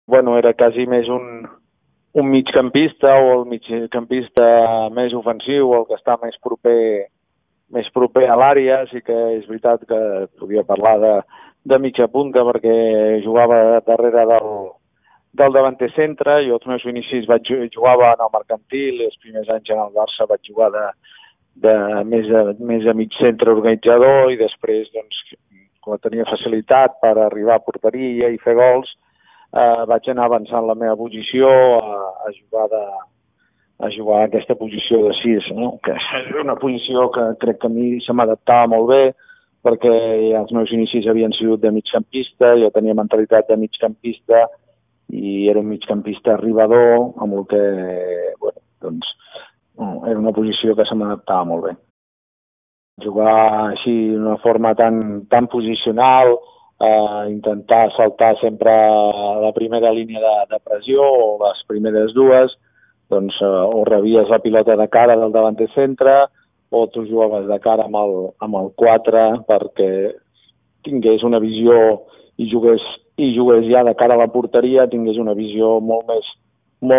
Era quasi més un migcampista o el migcampista més ofensiu, el que està més proper a l'àrea. Sí que és veritat que podia parlar de mitja punta perquè jugava darrere del davanter centre. Jo als meus inicis jugava en el Mercantil i els primers anys en el Barça vaig jugar més a mig centre organitzador i després, doncs, quan tenia facilitat per arribar a porteria i fer gols, vaig anar avançant la meva posició a jugar a aquesta posició de 6, no? Que és una posició que crec que a mi se m'adaptava molt bé perquè els meus inicis havien sigut de migcampista, jo tenia mentalitat de migcampista i era un migcampista arribador amb el que, era una posició que se m'adaptava molt bé. Jugar així d'una forma tan posicional, intentar saltar sempre a la primera línia de pressió o les primeres dues, doncs o rebies la pilota de cara del davanter centre o tu jugaves de cara amb el 4 perquè tingués una visió i jugués ja de cara a la porteria, tingués una visió molt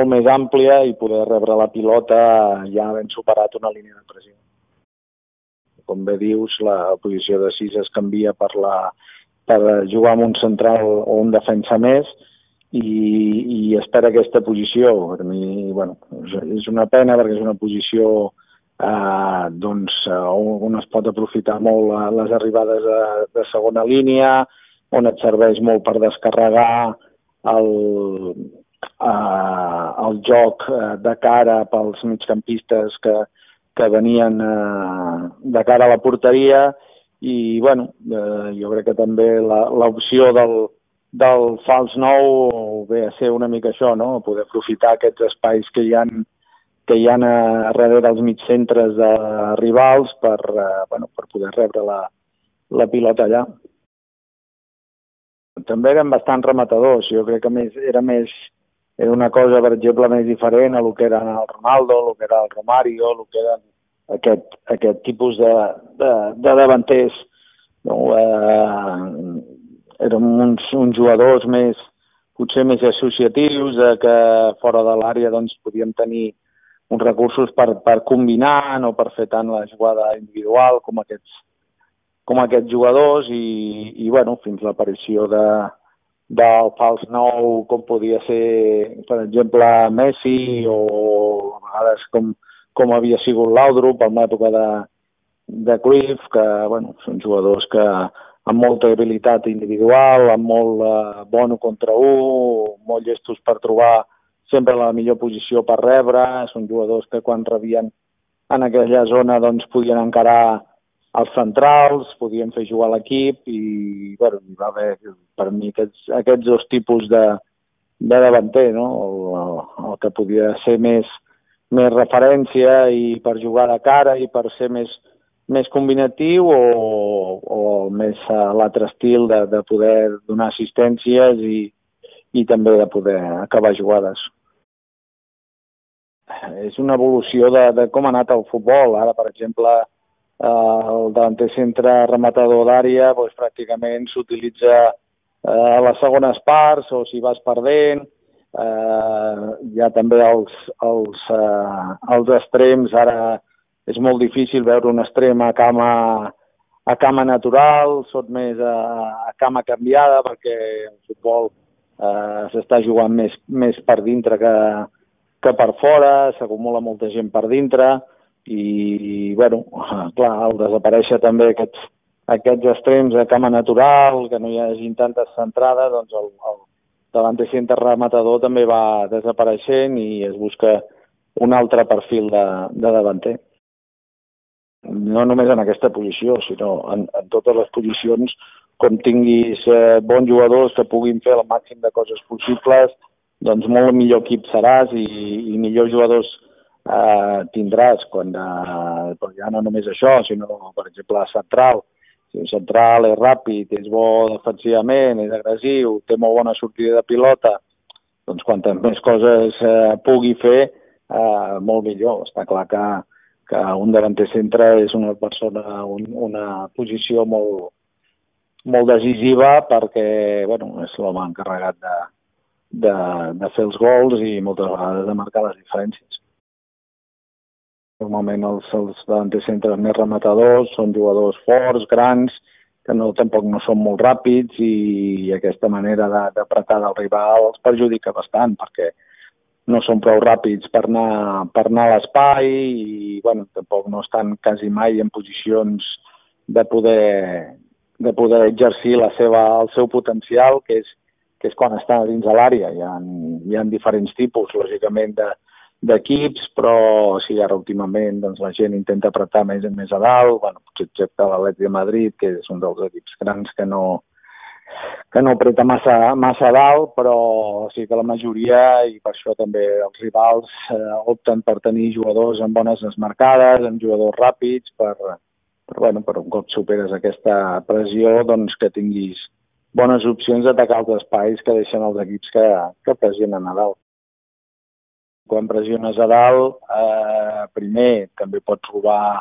més àmplia i poder rebre la pilota ja havent superat una línia de pressió. Com bé dius, la posició de 6 es canvia per jugar amb un central o un defensa més i espera aquesta posició. Per mi, és una pena perquè és una posició on es pot aprofitar molt les arribades de segona línia, on et serveix molt per descarregar el joc de cara pels migcampistes que venien de cara a la porteria i, jo crec que també l'opció del fals 9 ve a ser una mica això, no? Poder aprofitar aquests espais que hi ha darrere dels mitjcentres de rivals per poder rebre la pilota allà. També eren bastant rematadors. Jo crec que era una cosa, per exemple, més diferent a el que era el Ronaldo, el que era el Romario, el que eren aquest tipus de davanters. No? Eren uns jugadors potser més associatius, que fora de l'àrea podíem tenir uns recursos per combinar, no per fer tant la jugada individual com aquests jugadors i fins l'aparició del fals 9, com podia ser, per exemple, Messi o a vegades com havia sigut Laudrup en l'època de Cruyff, que són jugadors que amb molta habilitat individual, amb molt bon contra un, molt llestos per trobar sempre la millor posició per rebre. Són jugadors que quan rebien en aquella zona podien encarar els centrals, podien fer jugar l'equip i hi va haver per mi aquests dos tipus de davanter, no? El que podia ser més referència i per jugar de cara i per ser més combinatiu o més l'altre estil de poder donar assistències i també de poder acabar jugades. És una evolució de com ha anat el futbol. Ara, per exemple, el davanter centre rematador d'àrea pràcticament s'utilitza a les segones parts o si vas perdent. Hi ha també els extrems. Ara és molt difícil veure un extrem a cama natural, són més a cama canviada perquè el futbol s'està jugant més per dintre que per fora, s'acumula molta gent per dintre i, clar, al desaparèixer també aquests extrems a cama natural, que no hi hagi tantes centrades, doncs el davanter centre rematador també va desapareixent i es busca un altre perfil de davanter. No només en aquesta posició, sinó en totes les posicions, com tinguis bons jugadors que puguin fer el màxim de coses possibles, doncs molt millor equip seràs i millors jugadors tindràs però ja no només això, sinó, per exemple, central. Si un central és ràpid, és bo defensivament, és agressiu, té molt bona sortida de pilota, doncs quantes més coses pugui fer, molt millor. Està clar que un davanter centre és una persona, una posició molt decisiva perquè és l'home encarregat de fer els gols i moltes vegades de marcar les diferències. Normalment els davanters centres més rematadors són jugadors forts, grans, que tampoc no són molt ràpids i aquesta manera d'apretar del rival els perjudica bastant perquè no són prou ràpids per anar a l'espai i tampoc no estan quasi mai en posicions de poder exercir el seu potencial, que és quan està dins de l'àrea. Hi ha diferents tipus, lògicament, d'equips, però sí, ara últimament la gent intenta apretar més a dalt, potser excepte l'Atlètic de Madrid, que és un dels equips grans que no apreta massa dalt, però sí que la majoria, i per això també els rivals opten per tenir jugadors amb bones desmarcades, amb jugadors ràpids, per un cop superes aquesta pressió, que tinguis bones opcions d'atacar els espais que deixen els equips que pressionen a dalt. Quan pressiones a dalt, primer també pots robar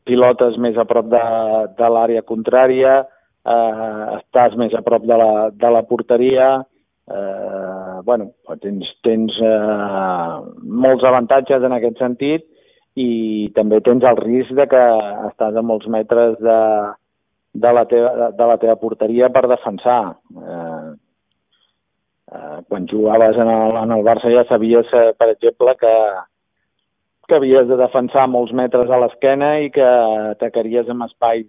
pilotes més a prop de l'àrea contrària, estàs més a prop de la porteria, tens molts avantatges en aquest sentit i també tens el risc de que estàs a molts metres de la teva porteria per defensar. Quan jugaves en el Barça ja sabies, per exemple, que havies de defensar molts metres a l'esquena i que atacaries amb espais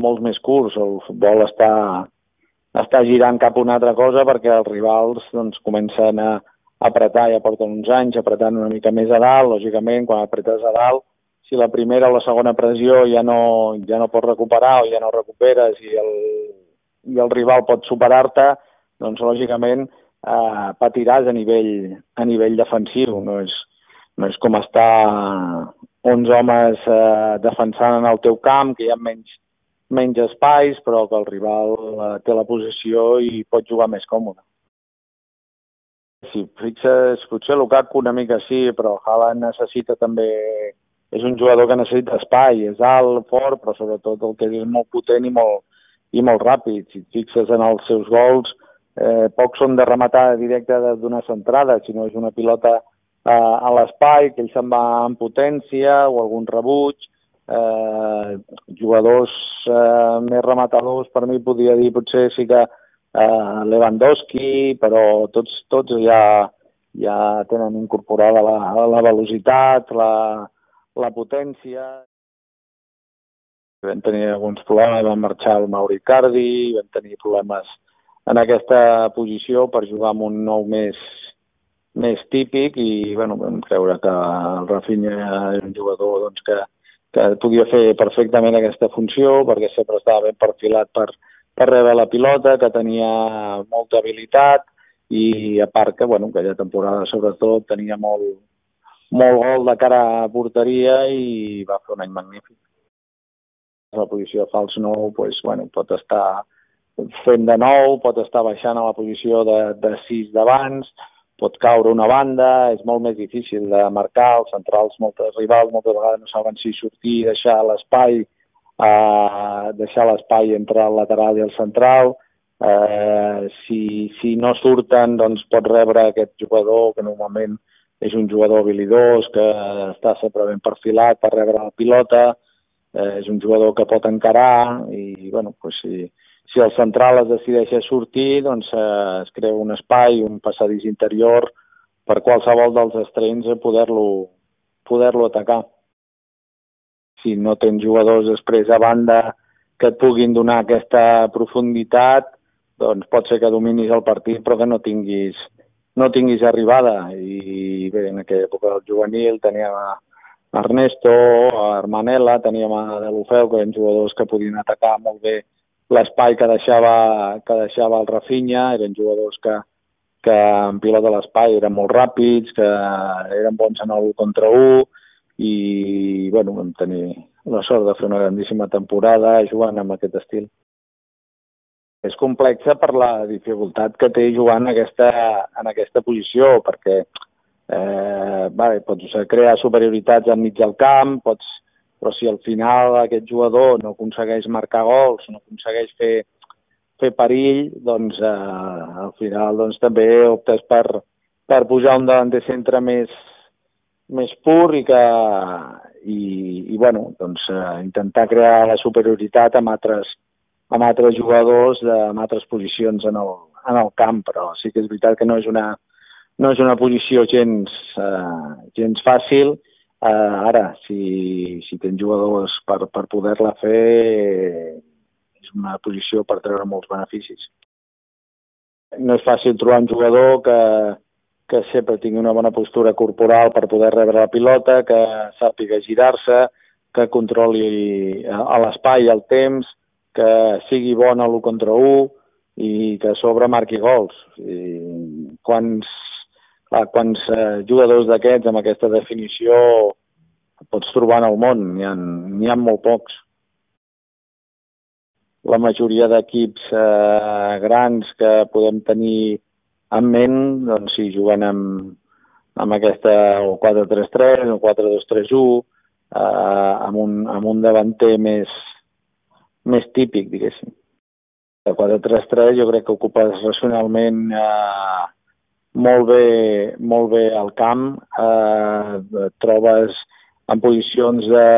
molts més curts. El futbol està girant cap a una altra cosa perquè els rivals comencen a apretar, ja porten uns anys apretant una mica més a dalt. Lògicament, quan apretes a dalt, si la primera o la segona pressió ja no pots recuperar o ja no recuperes i el rival pot superar-te, doncs lògicament patiràs a nivell defensiu. No és com estar 11 homes defensant en el teu camp, que hi ha menys espais, però que el rival té la possessió i pot jugar més còmode. Si fixes, potser Lukaku una mica sí, però Haaland necessita també... És un jugador que necessita espai, és alt, fort, però sobretot el que és molt potent i molt ràpid. Si et fixes en els seus gols, pocs són de rematar directe d'una centrada, sinó és una pilota a l'espai, que ell se'n va en potència o algun rebuig. Jugadors més rematadors, per mi podria dir potser sí que Lewandowski, però tots ja tenen incorporada la velocitat, la potència. Vam tenir alguns problemes, vam marxar el Mauro Icardi, vam tenir problemes en aquesta posició per jugar amb un nou més típic i vam creure que el Rafinha era un jugador que podia fer perfectament aquesta funció perquè sempre estava ben perfilat per rebre la pilota, que tenia molta habilitat i a part que aquella temporada sobretot tenia molt gol de cara a porteria i va fer un any magnífic. La posició de fals nou pot estar fent de nou, pot estar baixant a la posició de 6 d'abans, pot caure una banda, és molt més difícil de marcar, els centrals, moltes rivals moltes vegades no saben si sortir i deixar l'espai entre el lateral i el central. Si no surten, doncs pot rebre aquest jugador que normalment és un jugador habilidós, que està sempre ben perfilat per rebre la pilota, és un jugador que pot encarar i si el central es decideix a sortir, doncs es crea un espai, un passadís interior per qualsevol dels extrems a poder-lo atacar. Si no tens jugadors després a banda que et puguin donar aquesta profunditat, doncs pot ser que dominis el partit però que no tinguis arribada. I bé, en aquella època del juvenil teníem a Ernesto, a Armanella, teníem a Deulofeu, que eren jugadors que podien atacar molt bé l'espai que deixava el Rafinha, eren jugadors que en pilota a l'espai eren molt ràpids, que eren bons en el contra 1 i vam tenir la sort de fer una grandíssima temporada jugant amb aquest estil. És complexa per la dificultat que té jugant en aquesta posició, perquè pots crear superioritats enmig del camp, però si al final aquest jugador no aconsegueix marcar gols, no aconsegueix fer fer perill, doncs al final doncs, també optes per posar un davanter centre més pur i bueno, doncs, intentar crear la superioritat amb altres jugadors amb altres posicions en el camp, però sí que és veritat que no és una posició gens fàcil. Ara, si tens jugadors per poder-la fer, és una posició per treure molts beneficis. No és fàcil trobar un jugador que sempre tingui una bona postura corporal per poder rebre la pilota, que sàpiga girar-se, que controli l'espai i el temps, que sigui bon a l'1 contra 1 i que a sobre marqui gols. Quants jugadors d'aquests amb aquesta definició pots trobar en el món? N'hi ha molt pocs. La majoria d'equips grans que podem tenir en ment, doncs sí, juguen amb aquesta 4-3-3 o 4-2-3-1, amb un davanter més típic, diguéssim. El 4-3-3 jo crec que ocupes racionalment molt bé el camp, trobes en posicions de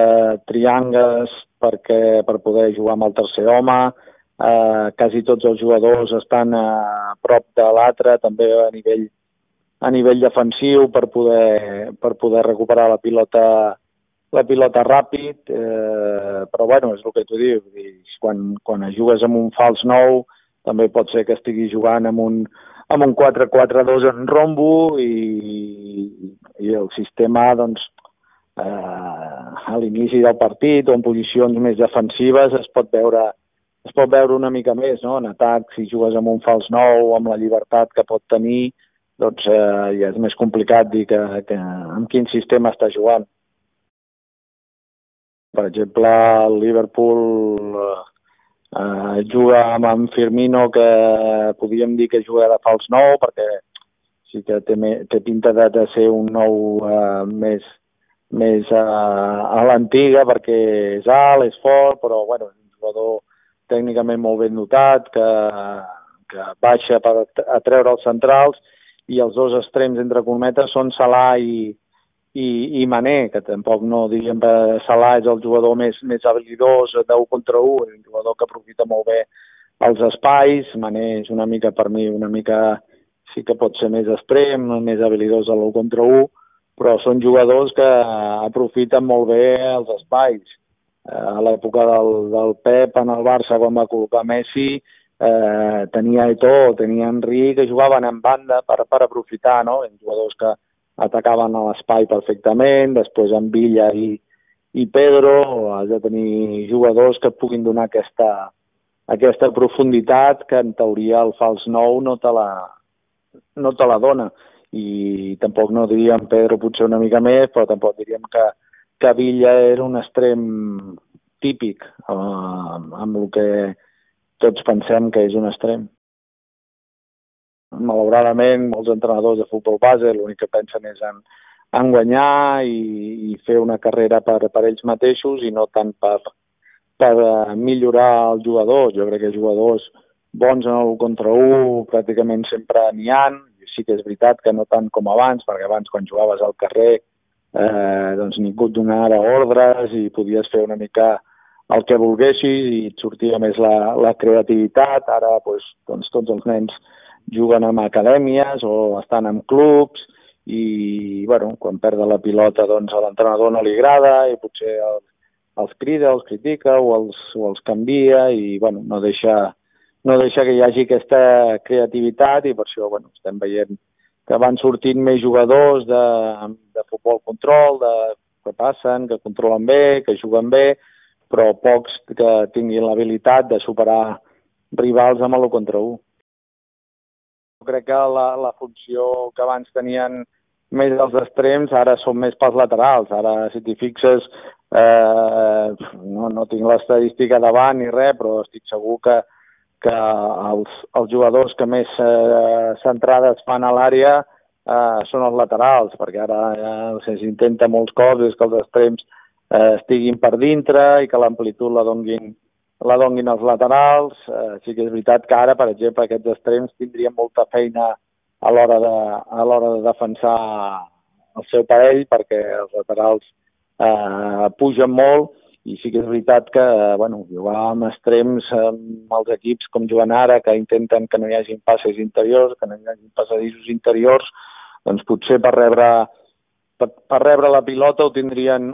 triangles per poder jugar amb el tercer home, quasi tots els jugadors estan a prop de l'altre, també a nivell defensiu per poder recuperar la pilota ràpid, però bueno, és el que tu dius, quan jugues amb un fals 9 també pot ser que estigui jugant amb un 4-4-2 en rombo i el sistema, doncs, a l'inici del partit o en posicions més defensives es pot veure una mica més, no? En atac, si jugues amb un fals 9 amb la llibertat que pot tenir, doncs ja és més complicat dir amb quin sistema està jugant. Per exemple, el Liverpool juga amb en Firmino, que podríem dir que juga de fals 9, perquè sí que té pinta de ser un 9 més a l'antiga, perquè és alt, és fort, però bueno, és un jugador tècnicament molt ben dotat, que baixa per atreure els centrals, i els dos extrems, entre cometes, són Salah i Mané, que tampoc no diríem que Salah és el jugador més habilidós d'1 contra 1, és un jugador que aprofita molt bé els espais. Mané és una mica, per mi, sí que pot ser més extrem, més habilidós a l'1 contra 1, però són jugadors que aprofiten molt bé els espais. A l'època del Pep en el Barça, quan va col·locar Messi, tenia Eto'o, tenia Henry, que jugaven en banda per aprofitar, no? Jugadors que atacaven a l'espai perfectament, després en Villa i Pedro. Has de tenir jugadors que et puguin donar aquesta profunditat que en teoria el fals 9 no te la dona. I tampoc no diríem Pedro potser una mica més, però tampoc diríem que Villa era un extrem típic, amb el que tots pensem que és un extrem. Malauradament, molts entrenadors de futbol base l'únic que pensen és en guanyar i fer una carrera per ells mateixos i no tant per millorar el jugador. Jo crec que jugadors bons en el contra 1 pràcticament sempre n'hi ha. Sí que és veritat que no tant com abans, perquè abans quan jugaves al carrer doncs ningú et donava ordres i podies fer una mica el que volguessis i et sortia més la creativitat. Ara doncs, tots els nens juguen en acadèmies o estan en clubs i bueno, quan perden la pilota doncs a l'entrenador no li agrada i potser els crida, els critica o els canvia i bueno, no deixa que hi hagi aquesta creativitat i per això estem veient que van sortint més jugadors de futbol control, que passen, que controlen bé, que juguen bé, però pocs que tinguin l'habilitat de superar rivals amb l'1 contra 1. Crec que la funció que abans tenien més els extrems ara són més pels laterals. Ara, si t'hi fixes, no tinc l'estadística davant ni res, però estic segur que els jugadors que més centrades fan a l'àrea són els laterals, perquè ara s'intenta molts cops que els extrems estiguin per dintre i que l'amplitud la donguin la donguin els laterals. Sí que és veritat que ara, per exemple, aquests extrems tindrien molta feina a l'hora de defensar el seu parell, perquè els laterals pugen molt, i sí que és veritat que jugar amb extrems amb els equips com juguen ara, que intenten que no hi hagin passes interiors, que no hi hagin passadissos interiors, doncs potser per rebre la pilota ho tindrien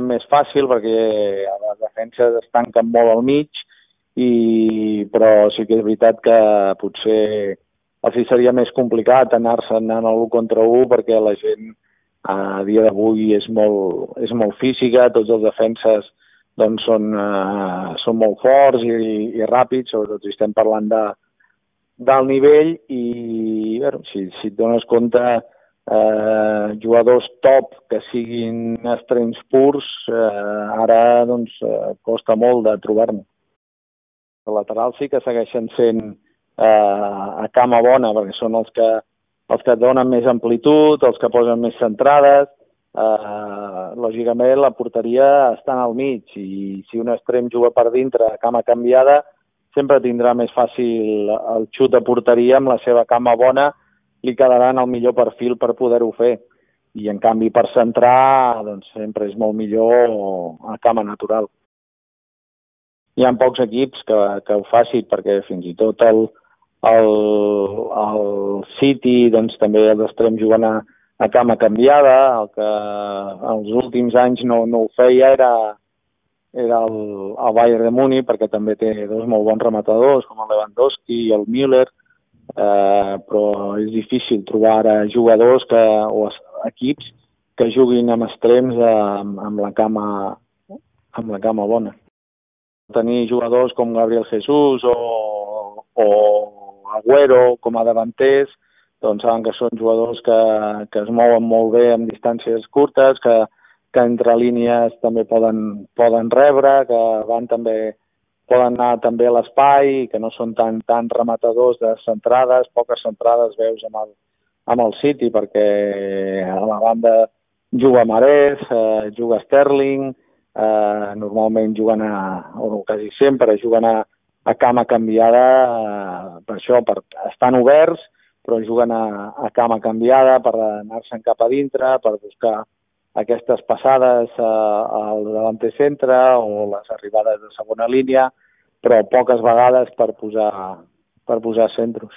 més fàcil, perquè les defenses es tanquen molt al mig, però sí que és veritat que potser els seria més complicat anar-se'n a l'1 contra 1, perquè la gent a dia d'avui és molt física, tots els defenses doncs són molt forts i ràpids, sobretot si estem parlant del nivell, i si et dones compte, jugadors top que siguin extrems purs, ara costa molt de trobar-ne. Els laterals sí que segueixen sent a cama bona, perquè són els que et donen més amplitud, els que posen més centrades. Lògicament la porteria està al mig, i si un extrem juga per dintre a cama canviada, sempre tindrà més fàcil el xut de porteria. Amb la seva cama bona li quedarà en el millor perfil per poder-ho fer, i en canvi per centrar sempre és molt millor a cama natural. Hi ha pocs equips que ho facin, perquè fins i tot el City també els extrems juguen a cama canviada. El que els últims anys no ho feia era el Bayern de Múnich, perquè també té dos molt bons rematadors, com el Lewandowski i el Müller, però és difícil trobar ara jugadors o equips que juguin amb extrems amb la cama bona. Tenir jugadors com Gabriel Jesús o Agüero com a davanters, doncs saben que són jugadors que es mouen molt bé en distàncies curtes, que entre línies també poden rebre, que poden anar també a l'espai, que no són tan rematadors de centrades. Poques centrades veus amb el City, perquè a la banda juga Mahrez, juga Sterling, normalment juguen o quasi sempre juguen a cama canviada, per això, estan oberts, però juguen a cama canviada per anar-se'n cap a dintre, per buscar aquestes passades al davanter centre o les arribades de segona línia, però poques vegades per posar centros.